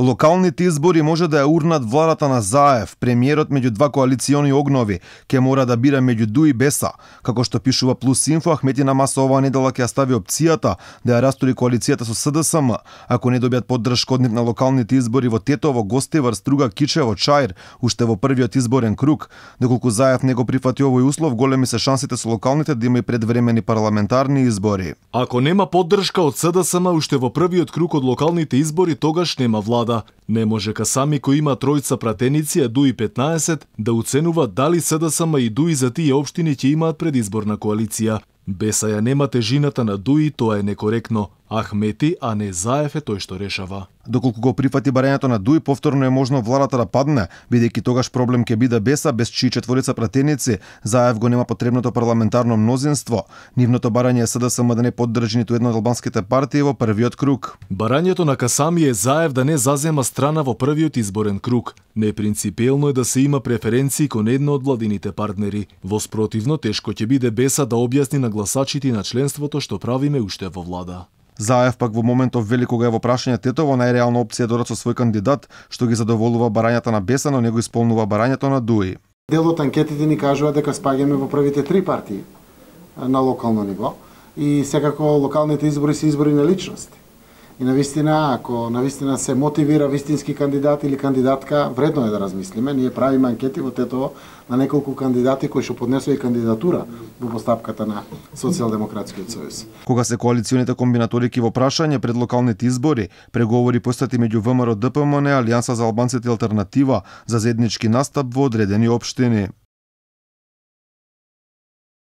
Локалните избори може да ја урнат владата на Заев. Премиерот меѓу два коалициони огнови ќе мора да бира меѓу ДУ и Беса. Како што пишува Плюс Инфо, Ахметина Маса оваа недела ќе ја стави опцијата да ја растури коалицијата со СДСМ, ако не добијат поддршка од нив на локалните избори во Тетово, Гостивар, Струга, Кичево, Чаир, уште во првиот изборен круг. Доколку Заев не го прифати овој услов, големи се шансите со локалните да има и предвремени парламентарни избори. Ако нема поддршка од СДСМ уште во првиот круг од локалните избори, тогаш нема влада. Не може Касами кој има тројца пратеници, а ДУ и 15, да оценуваат дали СДСМ и ДУ за тие општини ќе имаат предизборна коалиција. Беса ја нема тежината на ДУ и тоа е некоректно. Ахмети, а не Заев е тој што решава. Доколку го прифати барањето на ДУ, повторно е можно владата да падне, бидејќи тогаш проблем ќе биде Беса, без чии четворица пратеници Заев го нема потребното парламентарно мнозинство. Нивното барање е СДСМ да не поддржи ниту една од албанските партии во првиот круг. Барањето на Касами е Заев да не зазема страна во првиот изборен круг. Непринципиелно е да се има преференции кон една од владините партнери. Воспротивно, тешко ќе биде Беса да објасни на гласачите на членството што правиме уште во влада. Заев пак во моментов вели кога е во прашање Тетово, најреална опција додат со свој кандидат, што ги задоволува барањата на Беса, но не го исполнува барањето на ДУ. Дел од анкетите ни кажува дека спаѓаме во првите 3 партии на локално ниво и секако локалните избори се избори на личности. И навистина, ако навистина се мотивира вистински кандидат или кандидатка, вредно е да размислиме. Ние правиме анкети во Тетово на неколку кандидати кои што поднесоа и кандидатура во постапката на Социјалдемократскиот сојуз. Кога се коалиционите комбинаторики во прашање пред локалните избори, преговори постати меѓу ВМРО, ДПМН, Алијанса за албанците и Алтернатива за заеднички настап во одредени општини.